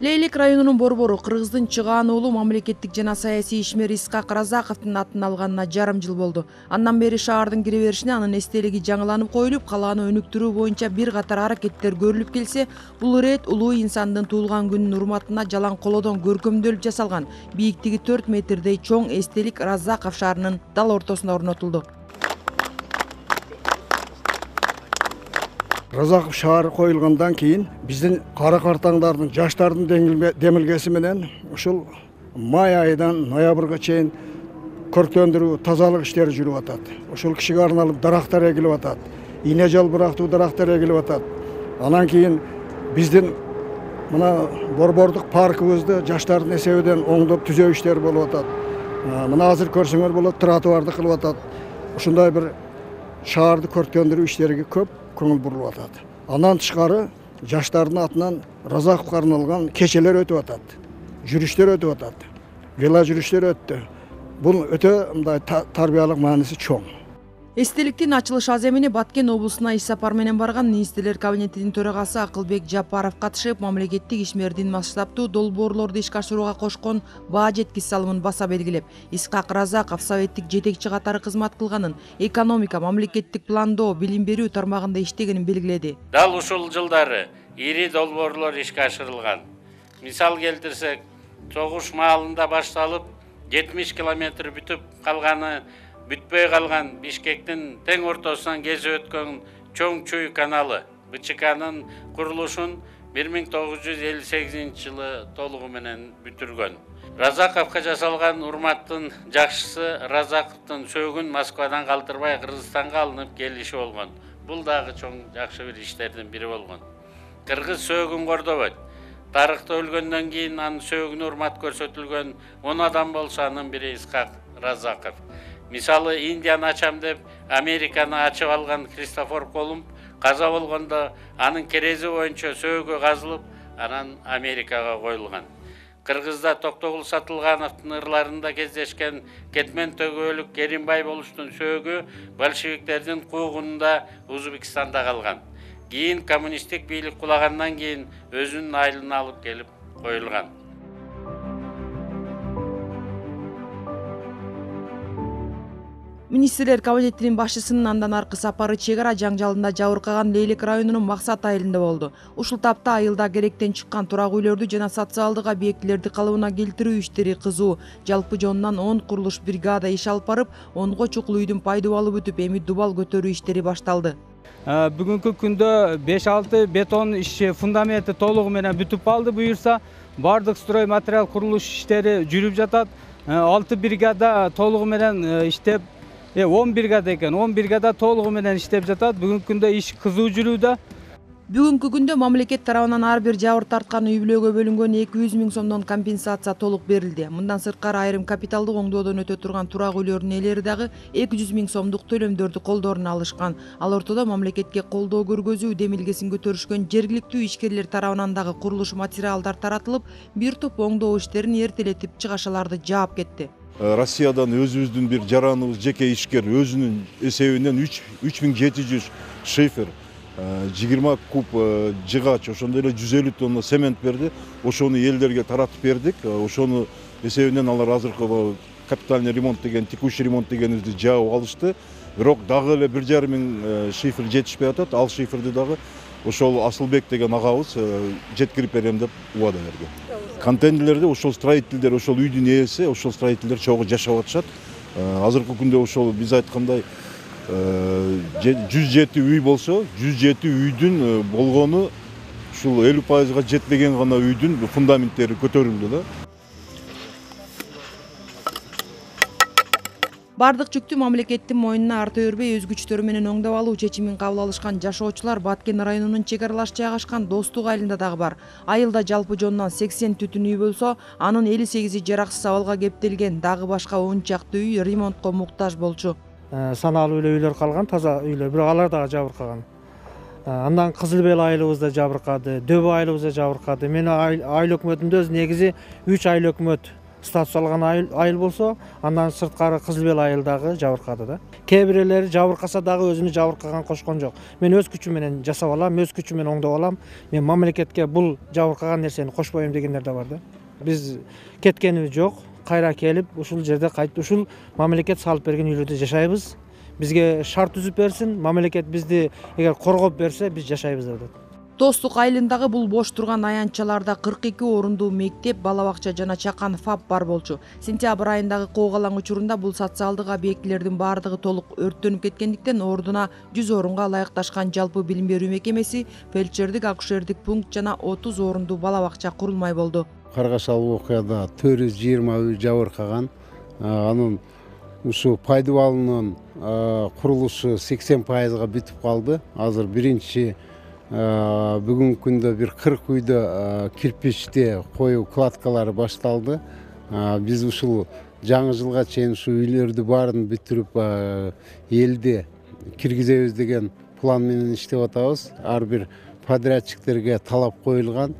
Лейлик районунун борбору Кыргыздын чыгаан уулу мамлекеттик жана саясий ишмер Исхак Разаковдун атын алганына жарым жыл болду. Андан бери шаардын кире беришине анын эстелиги жаңыланып коюлуп, калааны өнүктүрүү боюнча бир катар аракеттер көрүлүп келсе, бул ирет улуу инсандын туулган күнүнүн урматына жалаң колодон көркөмдөлүп жасалган бийиктиги 4 метрдей чоң эстелик Разаков шаарынын дал ортосуна орнотулду. Разаков шаары коюлгандан кийин биздин кара картаңдардын, жаштардын демилгеси менен ушул май айынан ноябрга чейин көрктөндүрүү, тазалык иштери жүрүп атат. Ушул кишиге арналып дарактар эгилип атат. Ийне жалбырактуу дарактар эгилип атат. Анан кийин биздин мына борбордук паркыбызды жаштардын эсебинен оңдоп түзөө иштери болуп атат. Мына азыр көрсөңөр болот, тротуарды кылып атат. Ушундай бир шаарды көрктөндүрүү иштериге көп көңүл бурулуп атат. Андан тышкары жаштардын атынан Разаковго арналган кечелер өтүп атат. Жүрүштөр өтүп атат. Вела жүрүштөр өттү. Бул өтө мындай тарбиялык мааниси чоң. Эстеликтин ачылыш аземине Баткен облусуна иш сапар менен барган министрлер кабинетинин төрагасы Акылбек Жапаров катышып, мамлекеттик ишмердин масштабтуу долбоорлорду ишке ашырууга кошкон баа жеткис салымын баса белгилеп, Исхак Разаков советтик жетекчи катары кызмат кылганын, экономика, мамлекеттик пландоо, билим берүү тармагында иштегенин белгиледи. Дал ушул жылдары ири долбоорлор ишке ашырылган. Мисал келтирсек, согуш маалында башталып 70 километр бүтүп калганы, бүтпөй калган Бишкектин тең ортосунан кесип өткөн чоң Чуй каналы БЧКнын курулушун 1958 жылы толугу менен бүтүргөн. Разаковго жасалган урматтын жакшысы Разаковдун сөөгүн Москвадан калтырбай Кыргызстанга алынып келиши болгон. Бул дагы чоң жакшы бир иштердин бири болгон. Кыргыз сөөгүн кордобойт. Тарыхта өлгөндөн кийин анын сөөгүнө урмат көрсөтүлгөн 10 адам болсо анын бири Исхак Разаков. Мисалы, Индияны ачам деп Американы ачып алган Христофор Колумб каза болгондо анын керези боюнча сөөгү казылып, анан Америкага коюлган. Кыргызда Токтогул Сатылгановдун ырларында кездешкен Кетмен төгөөлүк Керимбай болуштун сөөгү большевиктердин куугунунда Өзбекстанда калган. Кийин коммунисттик бийлик кулагандан кийин өзүнүн айылына алып келип коюлган. Министрлер кабинетинин башчысынын андан аркы сапары чек ара жаңжалында жабыркаган Лейлик районунун Максат айылында болду. Ушул тапта айылда керектен чыккан турак үйлөрдү жана социалдык объектилерди калыбына келтирүү иштери кызуу. Жалпы жонунан 10 курулуш бригада иш алып барып, 10го чукул үйдүн пайдубалы бүтүп, эми дубал көтөрүү иштери башталды. Бүгүнкү күндө 5-6 бетон иши фундаменти толугу менен бүтүп калды. Буюрса, бардык строй материал курулуш иштери жүрүп жатат. 6 бригада толугу менен иштеп, 10 бригада экен. 10 бригада толугу менен иштеп жатат. Бүгүнкү күндө иш кызуу жүрүүдө. Бүгүнкү күндө мамлекет тарабынан ар бир жабыр тарткан үй бүлөгө бөлүнгөн 200 000 сомдон компенсация толук берилди. Мындан сырткары айрым капиталдык оңдоодон өтө турган турак үйлөрүнүн ээлери дагы 200 000 сомдук төлөмдөрдү колдоруна алышкан. Ал ортодо мамлекетке колдоо көргөзүү демилгесин көтөрүшкөн жергиликтүү ишкерлер тарабынан дагы курулуш материалдар таратылып, бир топ оңдоо иштерин эртелетип чыгашаларды жаап кетти. Россиядан өзүбүздүн бир жараныбыз жеке ишкер өзүнүн эсебинен 3700 шифер, 20 куб жыгач, ошондой эле 150 тонна цемент берди. Ошону элдерге таратып бердик. Ошону эсебинен алар азыркы капитальный ремонт деген, текущий ремонт дегенибизди жаап алышты. Бирок дагы эле 1,5 миң шифер жетишпей атат. Ал шиферди дагы ошол Асылбек деген агабыз жеткирип берем деп убада берди. Контейнерлерде ошол строительдер, ошол үйдүн ээси, ошол строительдер чогуу жашап атышат. Азыркы күндө ошол биз айткандай 107 үй болсо, 107 үйдүн болгону ушул 50%га жетпеген гана үйдүн фундаменттери көтөрүлдү да. Бардык жүктү мамлекеттин мойнуна арта бербей өз күчтөрү менен оңдоп алуу чечимин кабыл алышкан жашоочулар Баткен районунун чек аралаш жайгашкан Достук айылында дагы бар. Айылда жалпы жонунан 80 түтүн үй болсо, анын 58-и жараксыз абалга кептелген, дагы башка 10 чакты үй ремонтко муктаж болчу. Саналуу эле үйлөр калган, таза үйлөр, бирок алар дагы жабыркаган. Андан Кызыл Бел айылыбыз да жабыркады, Дөбө айылыбыз да жабыркады. Менин айыл өкмөтүмдө негизи 3 айыл өкмөт статус алган айыл болсо, андан сырткары кызыл бел айыл дагы жабыркады да. Кээ бирлери жабыркаса дагы өзүнү жабыркаган кошкон жок. Мен өз күчүм менен жасап алам, өз күчүм менен оңдоп алам. Мен мамлекетке бул жабыркаган нерсени кошпойм дегендер да бар да. Биз кеткенибиз жок. Кайра келип, ушул жерде кайтып ушул мамлекет салып берген үйлөрдө жашайбыз. Бизге шарт түзүп берсин, мамлекет бизди эгер коргоп берсе, биз жашайбыз деп атат. Достук айылындагы бул бош турган аянтчаларда 42 орундуу мектеп, бала бакча жана чакан ФАП бар болчу. Сентябрь айындагы коогалаң учурунда бул социалдык объектилердин бардыгы толук өрттөнүп кеткендиктен ордуна 100 орунга ылайыкташкан жалпы билим берүү мекемеси, фельдшердик, акушердик пункт жана 30 орундуу бала бакча курулмай болду. Каргашал окуяда 420 үй жабыркаган. Анын ушу пайдубалынын курулушу 80%га бүтүп калды. Азыр биринчи бүгүнкү күндө бир 40 үйдө кирпичти коюу кладкалары башталды. Биз ушул жаңы жылга чейин ушу үйлөрдү баарын бүтүрүп элди киргизебиз деген план менен иштеп атабыз. Ар бир подрядчиктерге талап коюлган.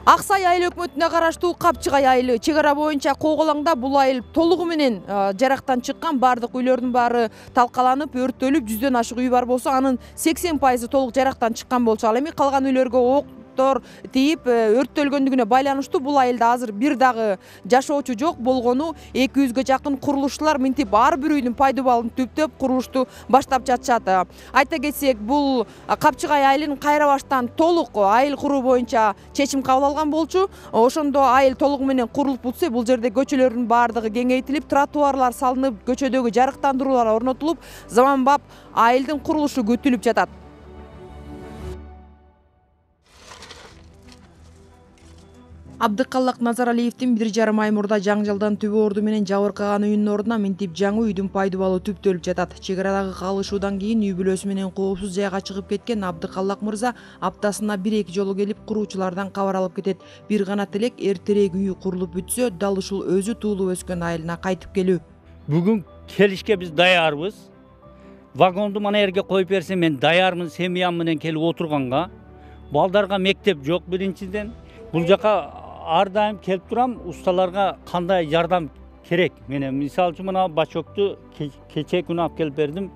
Ак Сай айыл өкмөтүнө караштуу Капчыгай айылы чек ара боюнча коогалаңда бул айыл толугу менен жарактан чыккан. Бардык үйлөрдүн баары талкаланып, өрттөлүп, 100дөн ашык үй бар болсо, анын 80% толук жарактан чыккан болчу. Ал эми калган үйлөргө октор тийип өрттөлгөндүгүнө байланыштуу бул айылда азыр бир дагы жашоочу жок. Болгону 200гө жакын курулушчулар минтип ар бир үйдүн пайдубалын түптөп курулушту баштап жатышат. Айта кетсек, бул Капчыгай айылын кайра баштан толук айыл куруу боюнча чечим кабыл алган болчу. Ошондо айыл толугу менен курулуп бүтсө, бул жерде көчөлөрдүн баардыгы кеңейтилип, тротуарлар салынып, көчөдөгү жарыктандыруулар орнотулуп, заманбап айылдын курулушу күтүлүп жатат. Абдыкаллак Назаралиевдин 1,5 ай мурда жаңжалдан түбө орду менен жабыркаган үйүнүн ордуна минтип жаңы үйдүн пайдубалы түптөлүп жатат. Чек арадагы калышуудан кийин үй бүлөсү менен коопсуз жайга чыгып кеткен Абдыкаллак мырза аптасына 1-2 жолу келип куруучулардан кабар алып кетет. Бир гана тилек эртерээк үйү курулуп бүтсө, дал ушул өзү туулуп өскөн айылына кайтып келүү. Бүгүн келишке биз даярбыз. Вагонду мана жерге коюп берсе, мен даярмын, семьям менен келип отурганга. Балдарга мектеп жок биринчиден. Бул жака ар дайым келип турам, усталарга кандай жардам керек. Мен мисалы үчүн мына бачокту кече күнү алып келип бердим.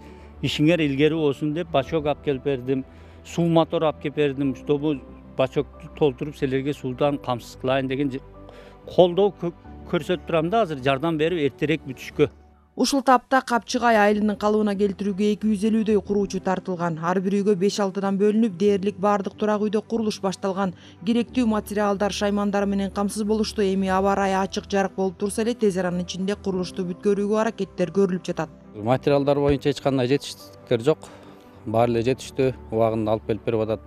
Ишиңер илгери болсун деп бачок алып келип бердим. Суу мотор алып келип бердим. Чтобы бачокту толтуруп силерге суудан камсыз кылайын деген колдоо көрсөтүп турам да, азыр жардам берип эртерээк бүтүшкө. Ушул тапта Капчыгай айылынын калыбына келтирүүгө 250дөй куруучу тартылган. Ар бир үйгө 5-6дан бөлүнүп, дээрлик бардык турак үйдө курулуш башталган. Керектүү материалдар, шаймандар менен камсыз болушту. Эми аба ырайы ачык жарык болуп турса эле, тез аранын ичинде курулушту бүткөрүүгө аракеттер көрүлүп жатат. Материалдар боюнча эч кандай жетиштиктер жок. Баары эле жетиштүү, убагында алып келип берип атат.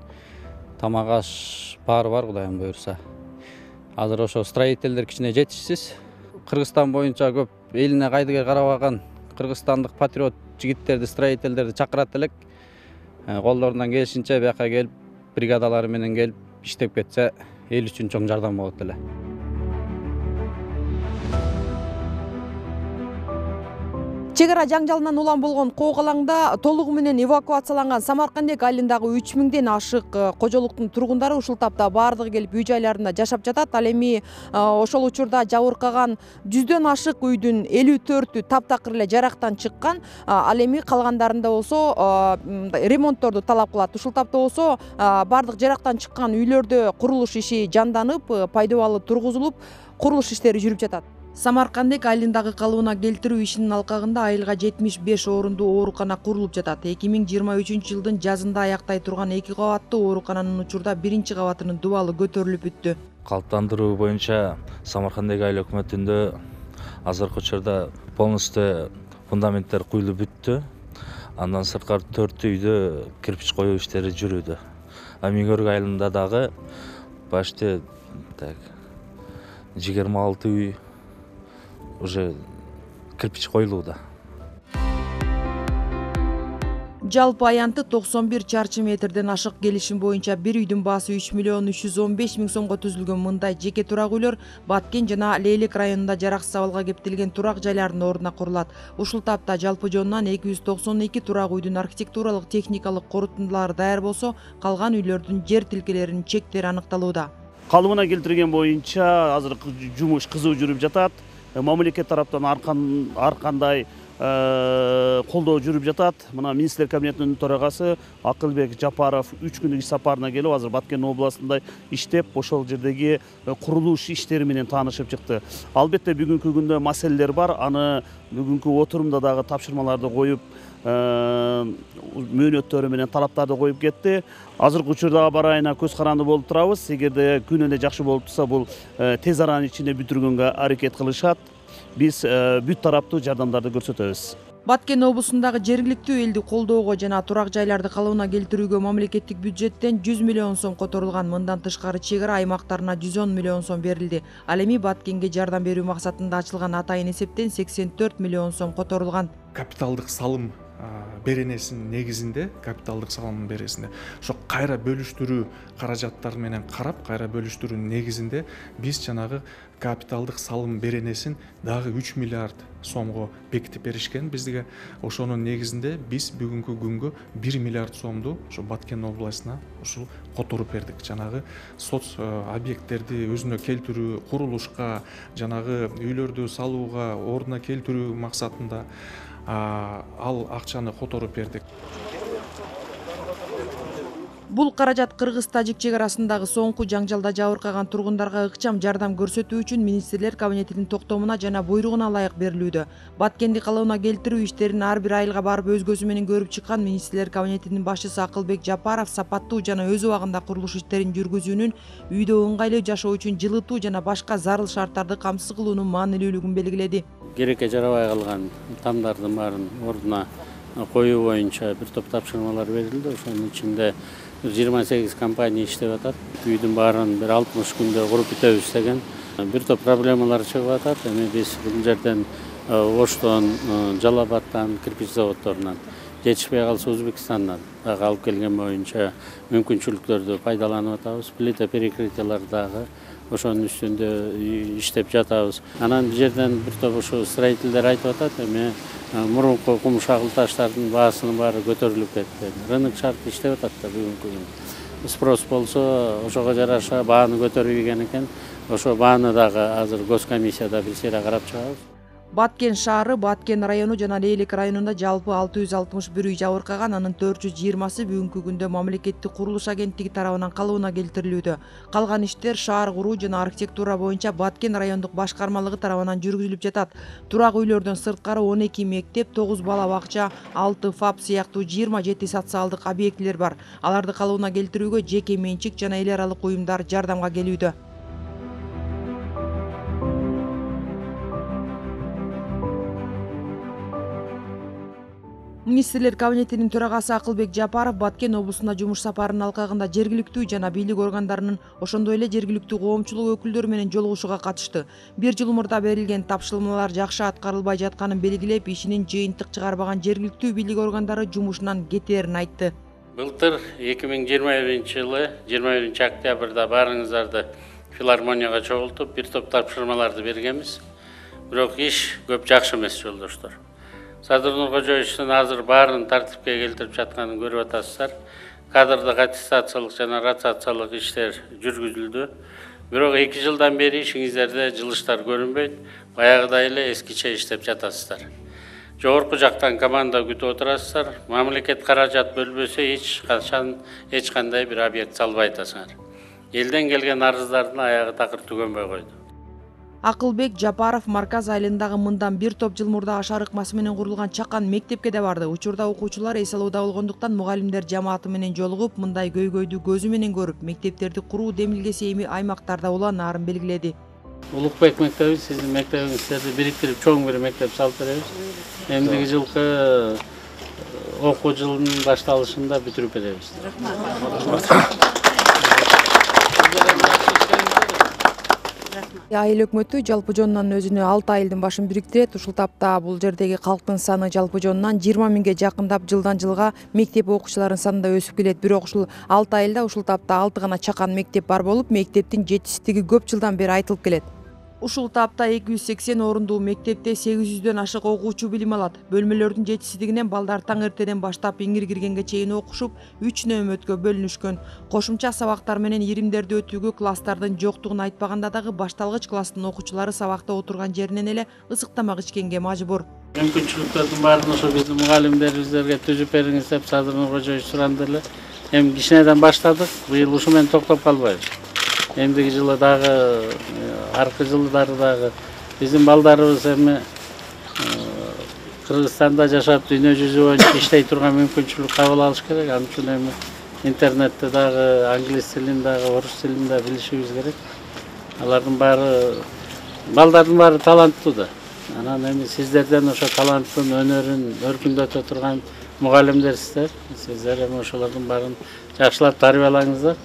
Тамак аш баары бар, Кудайым буйрса. Азыр ошо строителдер кичине жетишсиз. Кыргызстан боюнча көп элине кайдыгер карабаган кыргызстандык патриот жигиттерди, строителдерди чакырат элек. Колдорунан келишинче бияка келип, бригадалары менен келип иштеп кетсе, эл үчүн чоң жардам болот эле. Чек ара жаңжалынан улам болгон коогалаңда толугу менен эвакуацияланган Самаркандек айылындагы 3000ден ашык кожолуктун тургундары ушул тапта бардыгы келип үй жайларында жашап жатат. Ал эми ошол учурда жабыркаган 100дөн ашык үйдүн 54-ү таптакыр эле жарактан чыккан. Ал эми калгандарында болсо ремонтторду талап кылат. Ушул тапта болсо бардык жарактан чыккан үйлөрдө курулуш иши жанданып, пайдубалы тургузулуп, курулуш иштери жүрүп жатат. Самаркандек айылындагы калыбына келтирүү ишинин алкагында айылга 75 орундуу оорукана курулуп жатат. 2023-жылдын жазында аяктай турган 2 кабаттуу оорукананын учурда биринчи кабатынын дубалы көтөрүлүп бүттү. Калыптандыруу боюнча Самаркандек айыл өкмөтүндө азыркы учурда полностью фундаменттер куюлуп бүттү. Андан сырткары 4 үйдө кирпич коюу иштери жүрүүдө. Миңөрүк айылында дагы почти 26 үй уже кирпич коюлууда. Жалпы аянты 91 чарчы метрден ашык келишим боюнча бир үйдүн баасы 3.315.000 сомго түзүлгөн мындай жеке турак үйлөр Баткен жана Лейлек районунда жараксыз абалга кептелген турак жайлардын ордуна курулат. Ушул тапта жалпы жонунан 292 турак үйдүн архитектуралык техникалык корутундулары даяр болсо, калган үйлөрдүн жер тилкелеринин чектери аныкталууда. Калыбына келтирген боюнча азыр жумуш кызуу жүрүп жатат. Мамлекет тараптан ар кандай колдоо жүрүп жатат. Мына министрлер кабинетинин төрагасы Акылбек Жапаров 3 күндүк иш сапарына келип, азыр Баткен областында иштеп, ошол жердеги курулуш иштери менен таанышып чыкты. Албетте бүгүнкү күндө маселелер бар. Аны бүгүнкү отурумда дагы тапшырмаларды коюп, мөөнөттөрү менен талаптарды коюп кетти. Азыркы учурда бар айына көз каранды болуп турабыз. Эгерде күн эле жакшы болуп турса, бул тез аранын ичинде бүтүргөнгө аракет кылышат. Биз бүт тараптуу жардамдарды көрсөтөбүз. Баткен облусундагы жергиликтүү элди колдоого жана турак жайларды калыбына келтирүүгө мамлекеттик бюджеттен 100 миллион сом которулган. Мындан тышкары чек ара аймактарына 110 миллион сом берилди. Ал эми Баткенге жардам берүү максатында ачылган атайын эсептен 84 миллион сом которулган. Капиталдык салым беренесинин негизинде, капиталдык салымдын бересинде ошо кайра бөлүштүрүү каражаттары менен карап, кайра бөлүштүрүүнүн негизинде биз жанагы капиталдык салым беренесин дагы 3 миллиард сомго бекитип беришкен бизге. Ошонун негизинде биз бүгүнкү күнгө 1 миллиард сомду ошо Баткен областына ушул которуп бердик. Жанагы соц объекттерди өзүнө келтирүү, курулушка, жанагы үйлөрдү салууга, ордуна келтирүү максатында ал акчаны которуп бердик. Бул каражат Кыргыз-Тажик чек арасындагы соңку жаңжалда жабыркаган тургундарга ыкчам жардам көрсөтүү үчүн министрлер кабинетинин токтомуна жана буйругуна ылайык берилүүдө. Баткенди калыбына келтирүү иштерин ар бир айылга барып өз көзү менен көрүп чыккан министрлер кабинетинин башчысы Акылбек Жапаров сапаттуу жана өз убагында курулуш иштерин жүргүзүүнүн, үйдө ыңгайлуу жашоо үчүн жылытуу жана башка зарыл шарттарды камсыз кылуунун маанилүүлүгүн белгиледи. Керекке жарабай калган тамдардын баарын ордуна коюу боюнча бир топ тапшырмалар берилди. Ошонун ичинде 28 компания иштеп атат. Үйдүн баарын бир 60 күндө куруп бүтөбүз деген бир топ проблемалар чыгып атат. Эми биз бул жерден Оштон, Жалал Абадтан, кирпич заводдорунан, жетишпей калса Өзбекстандан дагы алып келген боюнча мүмкүнчүлүктөрдү пайдаланып атабыз. Плита перекрытиялар дагы ошонун үстүндө иштеп жатабыз. Анан бул жерден бир топ ошо строительдер айтып атат, эми мурунку кум шагыл таштардын баасынын баары көтөрүлүп кетти. Рынок шарт иштеп атат да бүгүнкү күндө. Спрос болсо ошого жараша бааны көтөрбөйген экен. Ошо бааны дагы азыр госкомиссияда бир сыйра карап чыгабыз. Баткен шаары, Баткен району жана Лейлек районунда жалпы 661 үй жабыркаган, анын 420сы бүгүнкү күндө мамлекеттик курулуш агенттиги тарабынан калыбына келтирилүүдө. Калган иштер шаар куруу жана архитектура боюнча Баткен райондук башкармалыгы тарабынан жүргүзүлүп жатат. Турак үйлөрдөн сырткары 12 мектеп, 9 бала бакча, 6 ФАП сыяктуу 27 социалдык объектилер бар. Аларды калыбына келтирүүгө жеке менчик жана эл аралык уюмдар жардамга келүүдө. Министрлер кабинетинин төрагасы Акылбек Жапаров Баткен облусунда жумуш сапарынын алкагында жергиликтүү жана бийлик органдарынын, ошондой эле жергиликтүү коомчулук өкүлдөрү менен жолугушууга катышты. Бир жыл мурда берилген тапшырмалар жакшы аткарылбай жатканын белгилеп, ишинин жыйынтык чыгарбаган жергиликтүү бийлик органдары жумушунан кетээрин айтты. Былтыр 2021-жылы 21 октябрда баарыңыздарды филармонияга чогултуп, бир топ тапшырмаларды бергенбиз. Бирок иш көп жакшы эмес, жолдоштор. Садыр Нуркожоевичтин азыр баарын тартипке келтирип жатканын көрүп атасыздар. Кадрдык аттестациялык жана ротациялык иштер жүргүзүлдү. Бирок 2 жылдан бери ишиңиздерде жылыштар көрүнбөйт. Баягыдай эле эскиче иштеп жатасыздар. Жогорку жактан команда күтүп отурасыздар. Мамлекет каражат бөлбөсө эч кандай бир объект салбай атасыңар. Элден келген арыздардын аягы такыр түгөнбөй койду. Акылбек Жапаров Марказ айылындагы мындан бир топ жыл мурда ашар ыкмасы менен курулган чакан мектепке да барды. Учурда окуучулар эс алууда болгондуктан мугалимдер жамааты менен жолугуп, мындай көйгөйдү көзү менен көрүп, мектептерди куруу демилгеси эми аймактарда уланаарын белгиледи. Улукбек мектеби, сиздин мектебиңиздерди бириктирип чоң бир мектеп салып беребиз. Эмдиги жылкы окуу жылынын башталышында бүтүрүп беребиз. Айыл өкмөтү жалпы жонунан өзүнө 6 айылдын башын бириктирет. Ушул тапта бул жердеги калктын саны жалпы жонунан 20 миңге жакындап жылдан жылга мектеп окуучуларынын саны да өсүп келет. Бирок ушул 6 айылда ушул тапта 6 гана чакан мектеп бар болуп, мектептин жетишсиздиги көп жылдан бери айтылып келет. Ушул тапта 280 орундуу мектепте 800дөн ашык окуучу билим алат. Бөлмөлөрдүн жетишсиздигинен балдар таң эртеден баштап иңир киргенге чейин окушуп, 3 нөөмөткө бөлүнүшкөн. Кошумча сабактар менен иримдерди өтүүгө класстардын жоктугун айтпаганда дагы башталгыч класстын окуучулары сабакта отурган жеринен эле ысык тамак ичкенге мажбур. Мүмкүнчүлүктөрдүн баарын ошо биздин мугалимдерибизге түзүп бериңиз деп Садыр Кожоевич суранды эле. Эми кичинеден баштадык. Быйыл ушу менен токтоп калбайбыз. Эмдиги жылы дагы, аркы жылдары дагы биздин балдарыбыз эми Кыргызстанда жашап, дүйнө жүзү боюнча иштей турган мүмкүнчүлүк кабыл алыш керек. Ал үчүн эми интернетте дагы, англис тилин дагы, орус тилин да билишибиз керек. Алардын баары, балдардын баары таланттуу да. Анан эми сиздерден ошо таланттын, өнөрүн өркүндөтө турган мугалимдерсиздер. Сиздер эми ошолордун баарын жакшылап тарбиялаңыздар.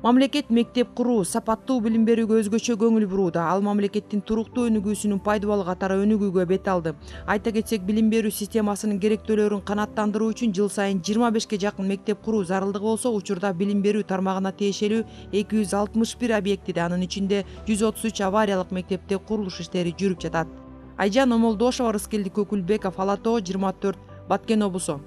Мамлекет мектеп куруу, сапаттуу билим берүүгө өзгөчө көңүл бурууда. Ал мамлекеттин туруктуу өнүгүүсүнүн пайдабалы катары өнүгүүгө бет алды. Айта кетсек, билим берүү системасынын керектөөлөрүн канааттандыруу үчүн жыл сайын 25ке жакын мектеп куруу зарылдыгы болсо, учурда билим берүү тармагына тиешелүү 261 объектиде, анын ичинде 133 авариялык мектепте курулуш иштери жүрүп жатат. Айжан Омолдошова, Рыскелди Көкүлбеков, Ала Тоо, 24, Баткен облусу.